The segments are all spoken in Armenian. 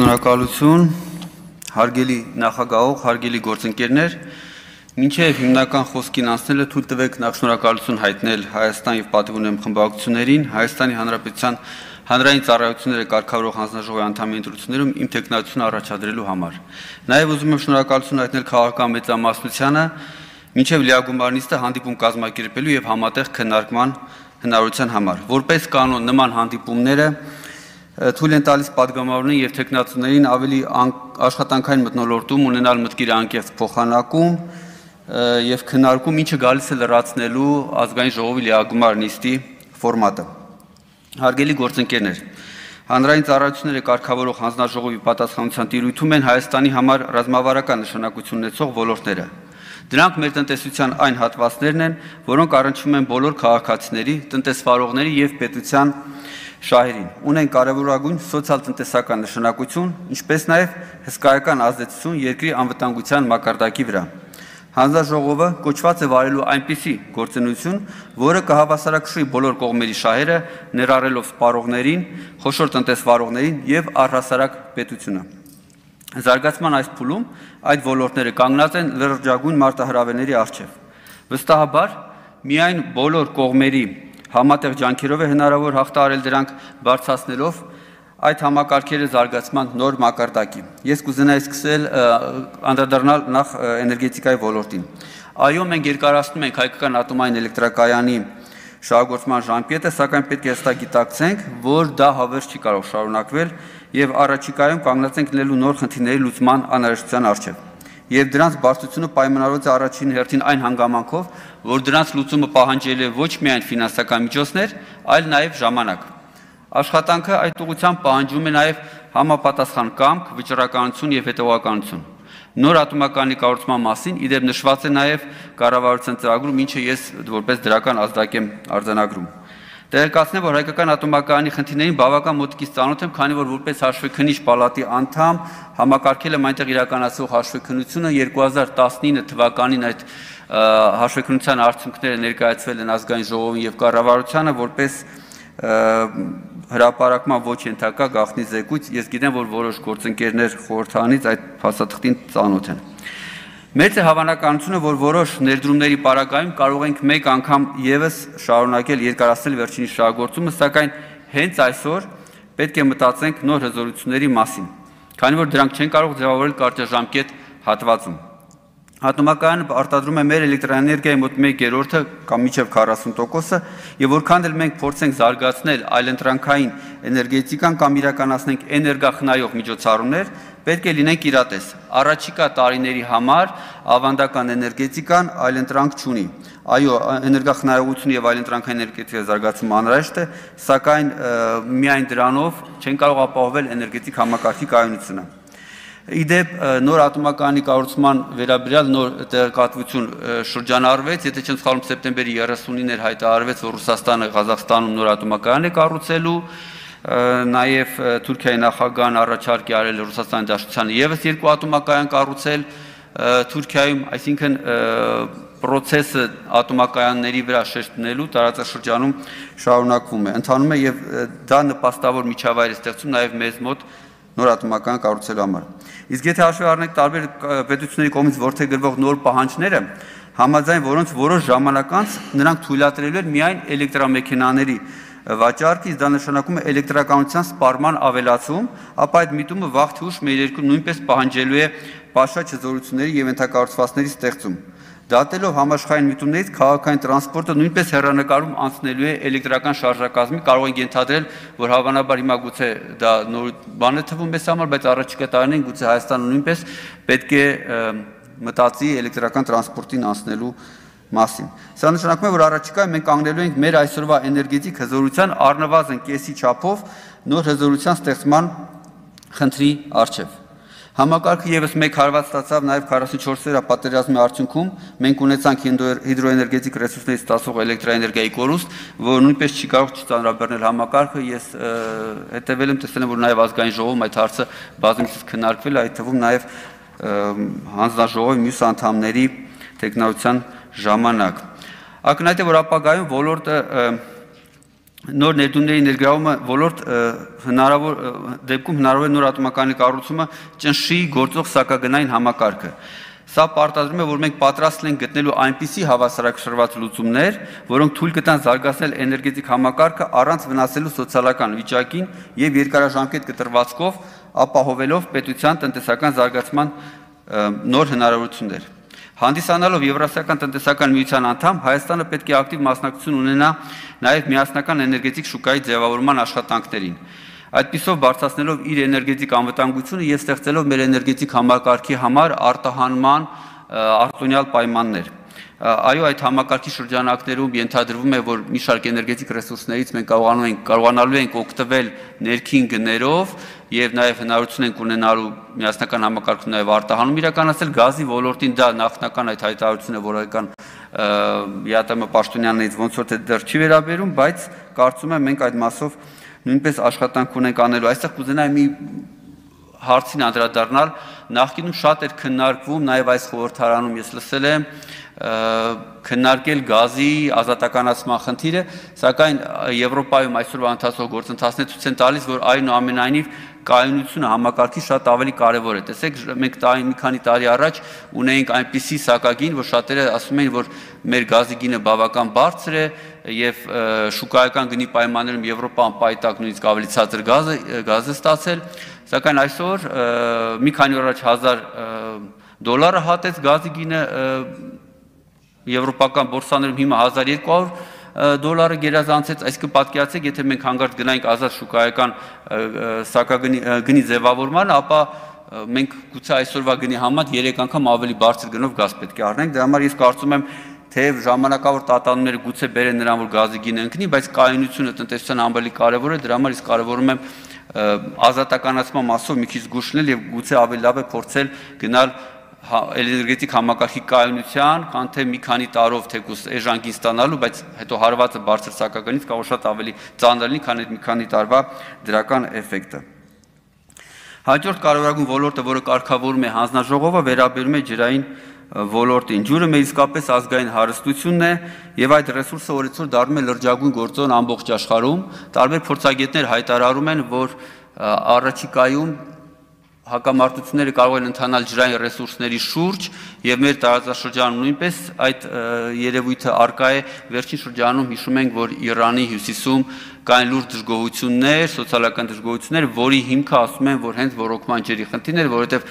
Շնորհակալություն, հարգելի նախագահող, հարգելի գործընկերներ, մինչև հիմնական խոսքին անցնելը թույլ տվեք նախ շնորհակալություն հայտնել Հայաստան եւ պատիվ ունեմ խմբակցություններին, Հայաստանի Հանրապետության հանրային ծառայությունները կարգավորող հանձնաժողովի անդամի ընտրություններում իմ տեխնացությունը առաջադրելու համար։ Նաեւ ուզում եմ շնորհակալություն հայտնել քաղաքական մեծամասնությանը, մինչև լիագումարնիստը հանդիպում կազմակերպելու եւ համատեղ քննարկման հնարավորության համար։ Որպես կանոն նման հանդիպումները թույլ են տալիս պատգամավորներին եւ տեխնացուներին ավելի աշխատանքային մթնոլորտում ունենալ մտքերի անկեղծ փոխանակում եւ քննարկում, ինչը գալիս է լրացնելու ազգային ժողովի լիագումար նիստի ֆորմատը։ Հարգելի գործընկերներ, հանրային ծառայությունները կարգավորող հանձնաժողովի պատասխանատվության տիրույթում են Հայաստանի համար ռազմավարական նշանակություն ունեցող ոլորտները։ Դրանք մեր տնտեսության այն հատվածներն են, որոնք առնչվում են բոլոր քաղաքացիների, տնտեսվարողների եւ պետության շահերին, ունեն կարևորագույն սոցիալ-տնտեսական նշանակություն, ինչպես նաև հսկայական ազդեցություն երկրի անվտանգության մակարդակի վրա։ Հանձնաժողովը կոչված է վարելու այնպիսի գործունեություն, որը կհավասարակշռի բոլոր կողմերի շահերը, ներառելով սպառողներին, խոշոր տնտեսվարողներին եւ առհասարակ պետությունը։ Զարգացման այս փուլում այդ ոլորտները կանգնած են լրջագույն մարտահրավերների առջև։ Վստահաբար, միայն բոլոր կողմերի համատեղ ջանքերով է հնարավոր հաղթահարել դրանք բարձրացնելով այդ համակարգերի զարգացման նոր մակարդակի։ Ես կուզենայի սկսել անդրադառնալ նախ էներգետիկայի ոլորտին։ Այո, մենք երկարացնում ենք հայկական ատոմային էլեկտրակայանի շահագործման ժամկետը, սակայն պետք է հստակ գիտակցենք, որ դա հավերժ չի կարող շարունակվել եւ առաջիկայում կանգնած ենք լինելու նոր խնդիրների լուծման անհրաժեշտության առջև։ Եվ դրանց բարձրությունը պայմանավորված է առաջին հերթին այն հանգամանքով, որ դրանց լուծումը պահանջել է ոչ միայն ֆինանսական միջոցներ, այլ նաև ժամանակ։ Աշխատանքը այդ ուղղությամբ պահանջում է նաև համապատասխան կամք, վճռականություն եւ հետևողականություն։ Նոր ատոմակայանի կառուցման մասին իդեպ նշված է նաև կառավարության ծրագրում, ինչը ես որպես դրական ազդակ եմ արձանագրում։ Տեղեկացնեմ, որ հայկական ատոմակայանի խնդիրներին բավական մոտիկից ծանոթ եմ, քանի որ որպես հաշվեկնիչ պալատի անդամ համակարգել եմ այնտեղ իրականացվող հաշվեկնությունը 2019 թվականին այդ հաշվեկնության արդյունքները ներկայացվել են ազգային ժողովին եւ կառավարությանը որպես հրապարակման ոչ ենթակա գաղտնի զեկույց։ Ես գիտեմ, որ որոշ գործընկերներ խորհրդանից այդ փաստաթղթին ծանոթ են։ Մեծ է հավանականությունը, որ որոշ ներդրումների պարագայում կարող ենք մեկ անգամ եւս շարունակել երկարացնել վերջինի շահագործումը, սակայն հենց այսօր պետք է մտածենք նոր հզորությունների մասին, քանի որ դրանք չեն կարող ձևավորել կարճաժամկետ հատվածում։ Ատոմակայանը արտադրում է մեր էլեկտրաէներգիայի մոտ 1/3 կամ մինչև 40%-ը, եւ որքան էլ մենք փորձենք զարգացնել այլընտրանքային էներգետիկան կամ իրականացնենք էներգախնայող միջոցառումներ, պետք է լինենք իրատես։ Առաջիկա տարիների համար ավանդական էներգետիկան այլընտրանք չունի։ Այո, էներգախնայողությունը եւ այլընտրանքային էներգետիկայի զարգացումը անհրաժեշտ է, սակայն միայն դրանով չեն կարող ապահովել էներգետիկ համակարգի կայունությունը։ Իդեպ նոր ատոմակայանի կառուցման վերաբերյալ նոր տեղեկատվություն շրջանառվեց, եթե չեմ սխալվում, սեպտեմբերի 30-ին էր հայտարարվեց, որ Ռուսաստանը Ղազախստանում նոր ատոմակայան է կառուցելու, նաև Թուրքիայի նախագահան առաջարկ է արել Ռուսաստանի Դաշնությանը եւս 2 ատոմակայան կառուցել Թուրքիայում, այսինքն process-ը ատոմակայանների վրա շեշտնելու տարածաշրջանում շարունակվում է, ընթանում է եւ դա նպաստավոր միջավայր է ստեղծում նաեւ մեզ մոտ նոր ատոմակայան կառուցելու համար։ Իսկ եթե հաշվի առնենք տարբեր պետությունների կողմից որդեգրվող նոր պահանջները, համաձայն որոնց որոշ ժամանակ անց նրանք թույլատրելու են միայն էլեկտրամեքենաների վաճառքը, դա նշանակում է էլեկտրականության սպառման ավելացում, ապա այդ միտումը վաղ թե ուշ մեր երկրում նույնպես պահանջելու է պաշաճ հզորությունների եւ ենթակառուցվածքների ստեղծում։ Դատելով համաշխարհային միտումներից քաղաքային տրանսպորտը նույնպես հեռանկարում անցնելու է էլեկտրական շարժակազմի, կարող ենք ենթադրել, որ հավանաբար հիմա գուցե դա նոր բան է թվում մեզ համար, բայց առաջիկա տարիներին գուցե Հայաստանը նույնպես պետք է մտածի էլեկտրական տրանսպորտին անցնելու մասին։ Սա նշանակում է, որ առաջիկայում մենք կանգնելու ենք մեր այսօրվա էներգետիկ հզորության առնվազն կեսի չափով նոր հզորության ստեղծման խնդրի առջև։ Համակարգը եւս մեկ հարված ստացավ նաեւ 44-րդ պատերազմի արդյունքում մենք ունեցանք հիդրոէներգետիկ ռեսուրսներից ստացող էլեկտրաէներգիայի կորուստ, որը նույնպես չի կարող չծանրաբեռնել համակարգը։ Ես հետևել եմ, տեսել եմ, որ նաեւ ազգային ժողովում այդ հարցը բազմիցս քննարկվել է, այդ թվում նաեւ հանձնաժողովի մյուս անդամների տեխնokration ժամանակ։ Ակնհայտ է, որ ապագայում ոլորտը նոր ներդրումների ներգրավումը ոլորտ դեպքում հնարավոր է նոր ատոմակայանի կառուցումը ճնշի գործող սակագնային համակարգը։ Սա պարտադրում է, որ մենք պատրաստ ենք գտնելու այնպիսի հավասարակշռված լուծումներ, որոնք թույլ կտան զարգացնել էներգետիկ համակարգը առանց վնասելու սոցիալական վիճակին եւ երկարաժամկետ կտրվածքով ապահովելով պետության տնտեսական զարգացման նոր հնարավորություններ։ Հանդիսանալով Եվրասիական տնտեսական միության անդամ, Հայաստանը պետք է ակտիվ մասնակցություն ունենա նաև միասնական էներգետիկ շուկայի ձևավորման աշխատանքներին։ Այդպիսով բարձրացնելով իր էներգետիկ անվտանգությունը եւ ստեղծելով մեր էներգետիկ համակարգի համար արտահանման արտոնյալ պայմաններ։ Այո, այդ համակարգի շրջանակներում ենթադրվում է, որ մի շարք էներգետիկ ռեսուրսներից մենք կարողանալու ենք օգտվել ներքին գներով եւ նաեւ հնարավորություն ենք ունենալու միասնական համակարգում նաեւ արտահանում իրականացնել գազի ոլորտին դա նախնական այդ հայտարարությունը որական ԵԱՏՄ պաշտոնյաններից ոնց որ թե դեռ չի վերաբերում, բայց կարծում եմ մենք այդ մասով նույնպես աշխատանք ունենք անելու։ Այստեղ կուզենայի մի հարցին անդրադառնալ, նախկինում շատ էր քննարկվում, նաև այս խորհրդարանում ես լսել եմ քննարկել գազի ազատականացման խնդիրը, սակայն Եվրոպայում այսօրվա ընթացող գործընթացները ցույց են տալիս, որ այնուամենայնիվ կայունությունը համակարգի շատ ավելի կարևոր է։ Տեսեք, մենք մի քանի տարի առաջ ունեինք այնպիսի սակագին, որ շատերը ասում էին, որ մեր գազի գինը բավական բարձր է եւ շուկայական գնի պայմաններում Եվրոպան պայտակ նույնիսկ ավելի ցածր գազ է ստացել, սակայն այսօր մի քանի օր առաջ $1000 հատեց գազի գինը եվրոպական բորսաներում հիմա $1200 գերազանցեց, այսինքն պատկերացրեք, եթե մենք հանգարց գնայինք ազատ շուկայական սակագնի ձևավորմանը, ապա մենք գուցե այսօրվա գնի համեմատ 3 անգամ ավելի բարձր գնով գազ պետք է առնենք, դրա համար ես կարծում եմ, թեև ժամանակավոր տատանումները գուցե բերեն նրան, որ գազի գինը ընկնի, բայց կայունությունը տնտեսության ավելի կարևոր է, դրա համար ես կարևորում եմ ազատականացման մասով մի քիչ զգուշնել եւ գուցե ավելի լավ է փորձել գնալ էներգետիկ համակարգի կայունության, քան թե մի քանի տարով թեկուզ էժանքին ստանալու, բայց հետո հարվածը բարձր սակագնից կարող շատ ավելի ծանր լինի, քան այդ մի քանի տարվա դրական էֆեկտը։ Հաջորդ կարևորագույն ոլորտը, որը կարգավորում է հանձնաժողովը, վերաբերում է ջրային ոլորտին։ Ջուրը մեր իսկապես ազգային հարստությունն է եւ այդ ռեսուրսը օրեցօր դառնում է լրջագույն գործոն ամբողջ աշխարհում։ Տարբեր փորձագետներ հայտարարում են, որ առաջիկայում հակամարտությունները կարող են ընթանալ ջրային ռեսուրսների շուրջ եւ մեր տարածաշրջանում նույնպես այդ երևույթը արկա է։ Վերջին շրջանում հիշում ենք, որ Իրանի հյուսիսում կային լուրջ դժգոհություններ, սոցիալական դժգոհություններ, որի հիմքը ասում են, որ հենց ռոռոկման ջրի խնդիրն էր, որովհետեւ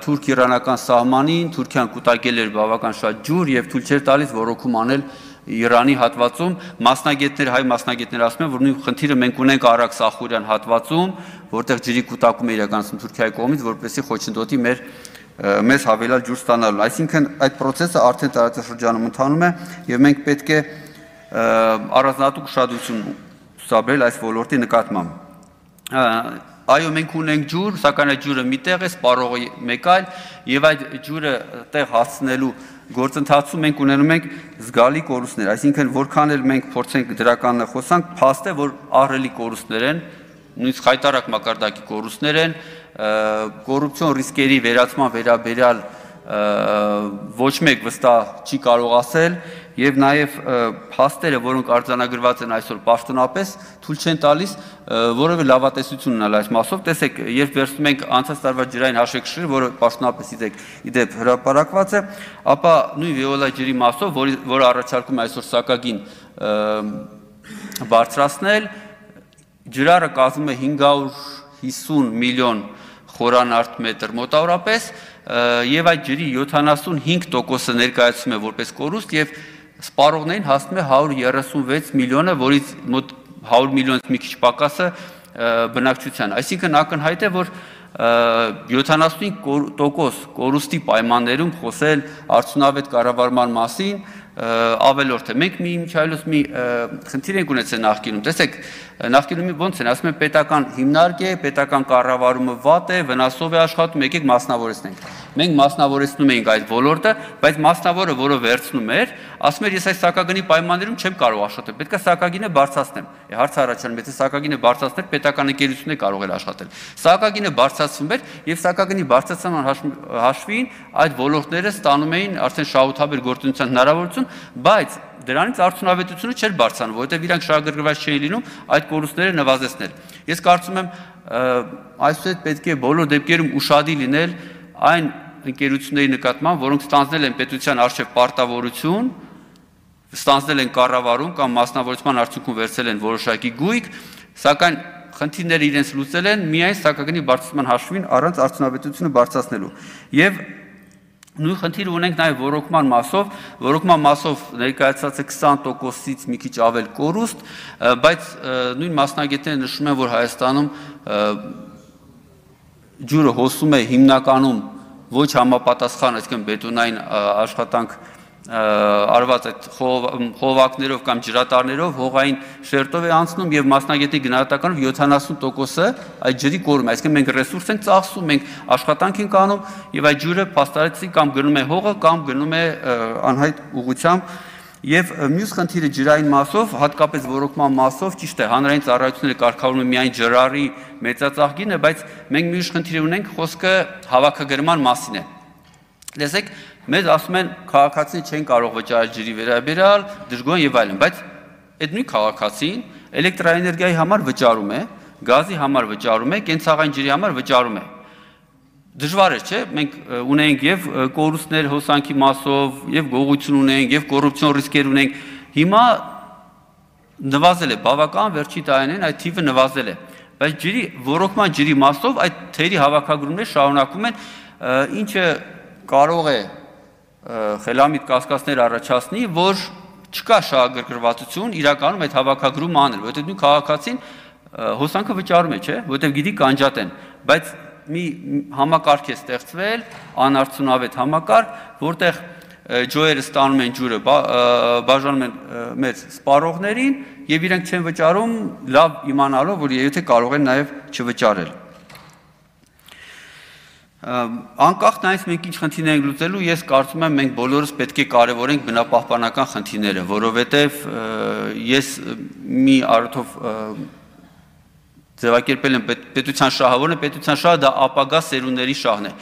թուրք-իրանական սահմանին Թուրքիան կուտակել էր բավական շատ ջուր եւ թույլ չէր տալիս ռոռոկում անել Իրանի հատվածում հայ մասնագետներ ասում են, որ նույն խնդիրը մենք ունենք Արաքս-Ախուրյան հատվածում, որտեղ ջրի կուտակում է իրականացնում Թուրքիայի կողմից, որպեսզի խոչընդոտի մեզ հավելյալ ջուր ստանալու։ Այսինքն այդ process-ը արդեն տարածաշրջանում ընթանում է եւ մենք պետք է առանձնահատուկ ուշադրություն ցուցաբերել այս ոլորտի նկատմամբ։ Այո, մենք ունենք ջուր, սակայն այդ ջուրը մի տեղ է, սպառողը մեկ այլ, եւ այդ ջուրը տեղ հասցնելու գործընթացում մենք ունենում ենք զգալի կորուստներ, այսինքն որքան էլ մենք փորձենք դրականն խոսանք, փաստ է, որ ահռելի կորուստներ են, նույնիսկ խայտարակ մակարդակի կորուստներ են, կոռուպցիոն ռիսկերի վերացման վերաբերյալ ոչ մեկ վստահ չի կարող ասել եւ նաեւ փաստերը, որոնք արձանագրված են այսօր պաշտոնապես, թույլ չեն տալիս որևէ լավատեսություն ունենալ այս մասով։ Տեսեք, երբ վերցնում ենք անցած տարվա ջրային հաշվեկշիռը, որը պաշտոնապես իդեպ հրապարակված է, ապա նույն Վեոլա ջրի մասով, որը առաջարկում է այսօր սակագին բարձրացնել, ջրարը կազմում է 550 միլիոն խորանարդ մետր մոտավորապես եւ այդ ջրի 75%-ը ներկայացում է որպես կորուստ եւ սպառողներին հասնում է 136 միլիոնը, որից մոտ 100 միլիոնից մի քիչ պակասը բնակչության։ Այսինքն ակնհայտ է, որ 75% կորուստի պայմաններում խոսել արդյունավետ կառավարման մասին ավելորդ է։ Մենք միջայլոց մի խնդիր ենք ունեցել նախկինում։ Տեսեք, նախկինում ոնց են, ասում են պետական հիմնարկ է, պետական կառավարումը վատ է, վնասով է աշխատում, եկեք մասնավորեցնենք։ Մենք մասնավորեցնում էինք այդ ոլորտը, բայց մասնավորը, որը վերցնում էր, ասում էր, ես այս սակագնի պայմաններում չեմ կարող աշխատել, պետք է սակագինը բարձրացնեմ։ Հարցը առաջանում, եթե սակագինը բարձրացներ, պետական ընկերությունն է կարող էր աշխատել։ Սակագինը բարձրացվում էր եւ սակագնի բարձրացման հաշվին այդ ոլորտները ստանում էին արդեն շահութաբեր գործունեության հնարավորություն, բայց դրանից արդյունավետությունը չէր բարձրանում, որովհետև իրանք շահագրգռված չէին լինում այդ կորուստները նվազեցնել։ Ես կարծում եմ այսուհետ պետք է բոլոր դեպքերում ուշադիր լինել այն ընկերությունների նկատմամբ, որոնք ստանձնել են պետության առջև պարտավորություն, ստանձնել են կառավարում կամ մասնավորեցման արդյունքում վերցել են որոշակի գույք, սակայն խնդիրները իրենց լուծել են միայն սակագնի բարձրացման հաշվին առանց արդյունավետությունը բարձրացնելու։ Եվ նույն խնդիրը ունենք նաև ռոռոկման մասով ներկայացած է 20%-ից մի քիչ ավել կորուստ, բայց նույն մասնագետները նշում են, որ Հայաստանում ջուրը հոսում է հիմնականում ոչ համապատասխան, այսինքն բետոնային աշխատանք արված այդ խողովակներով կամ ջրատարներով հողային շերտով է անցնում եւ մասնագետի գնահատականով 70%-ը այդ ջրի կորում է, այսինքն մենք ռեսուրս ենք ծախսում, մենք աշխատանք ենք անում եւ այդ ջուրը փաստարեցի կամ գնում է հողը կամ գնում է անհայտ ուղղությամբ եւ մյուս խնդիրը ջրային մասով, հատկապես ռոռոկման մասով, ճիշտ է, հանրային ծառայությունները կարգավորում են միայն ջրարի մեծածախ գինը, բայց մենք մյուս խնդիր ունենք, խոսքը հավաքագրման մասին է։ Լսեք, մեզ ասում են քաղաքացիները չեն կարող վճարել ջրի վերաբերյալ, դժգոհ եւ այլն, բայց այդ նույն քաղաքացին էլեկտրաէներգիայի համար վճարում է, գազի համար վճարում է, կենցաղային ջրի համար վճարում է։ Դժվար է, չէ՞, մենք ունենք եւ կորուստներ հոսանքի մասով, եւ գողություն ունենք, եւ կոռուպցիոն ռիսկեր ունենք։ Հիմա նվազել է բավական վերջի տարիներին այդ թիվը նվազել է, բայց ջրի ռոռոկման ջրի մասով այդ թերի հավաքագրումները շարունակվում են, ինչը կարող է խելամիտ կասկածներ առաջացնի, որ չկա շահագրգռվածություն իրականում այդ հավաքագրումը անել, որովհետև նույն քաղաքացին հոսանքը վճարում է, չէ՞, որովհետև գիտի կանջատեն, բայց մի համակարգ է ստեղծվել, անարդյունավետ համակարգ, որտեղ ջոյերը ստանում են ջուրը, բաժանում են մեր սպառողներին եւ իրենք չեն վճարում, լավ իմանալով, որ եթե կարող են նաեւ չվճարել։ Անկախ նրանից մենք ինչ խնդիրներ ենք լուծելու, ես կարծում եմ մենք բոլորս պետք է կարևորենք բնապահպանական խնդիրները, որովհետեւ ես մի առիթով ձևակերպել եմ պետության շահը, որն է պետության շահը, դա ապագա սերունդների շահն է։